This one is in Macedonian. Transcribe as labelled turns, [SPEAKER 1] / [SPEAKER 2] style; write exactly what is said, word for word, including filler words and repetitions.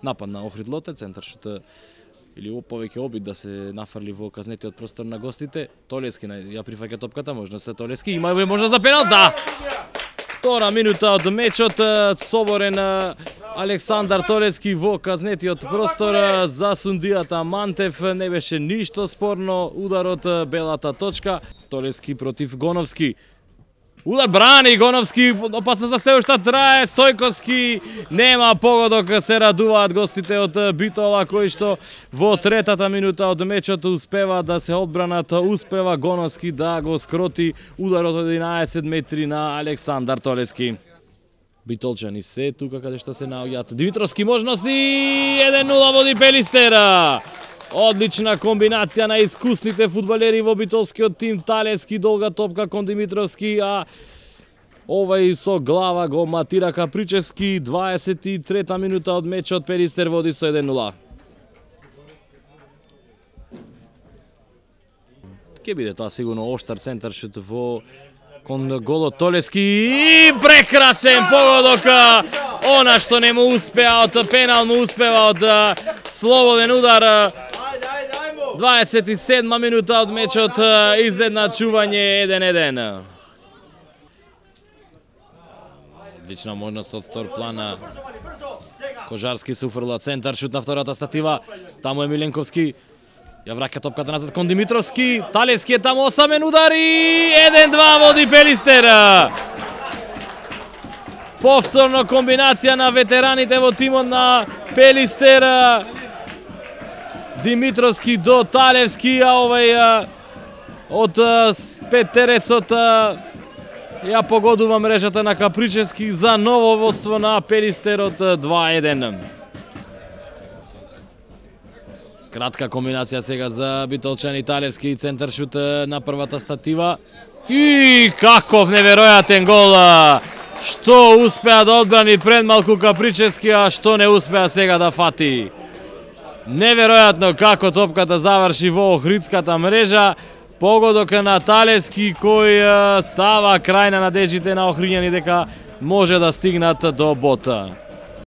[SPEAKER 1] напад на Охрид Лоте, центар шут или повеќе обид да се нафрли во казнетиот простор на гостите. Толески ја прифаќа топката, можна се Толески, има можна за пенал, да! Втора минута од мечот, соборен Александар Толески во казнетиот простор за сундијата Мантев, не беше ништо спорно, ударот белата точка, Толески против Гоновски. Удар брани Гоновски, опасност за се уште трае, Стојковски нема погодок, се радуваат гостите од Битола кои што во третата минута од мечот успева да се одбранат, успева Гоновски да го скроти ударот од единаесет метри на Александар Толески. Битолчани се тука каде што се наоѓаат Димитровски можности, еден нула води Пелистера. Одлична комбинација на искусните фудбалери во битолскиот тим, Талески долга топка кон Димитровски, а овај со глава го матира Капричевски. дваесет и трета минута од мечот, Пелистер води со еден нула. Ке биде тоа сигурно оштар центар шут во кон голот Толески и прекрасен погодок, она што не му успеа од пенал му успева од слободен удар. дваесет и седма минута од мечот, изедначување еден еден. Одлична можност од втор плана. Кожарски се уфрла центар шут на втората статива. Таму е Миленковски. Ја враќа топката назад кон Димитровски. Талески е таму, осамен удар и еден два води Пелистер. Повторно комбинација на ветераните во тимот на Пелистер. Димитровски до Талевски, а овај од петтерецот ја погодува мрежата на Капричевски за ново водство на Пелистер од два еден. Кратка комбинација сега за битолчани, Талевски центар шут на првата статива. И каков неверојатен гол! Што успеа да одбрани пред малку Капричевски, а што не успеа сега да фати. Неверојатно како топката заврши во охридската мрежа. Погодок на Талевски кој става крај на надеждите на охриѓани дека може да стигнат до бота.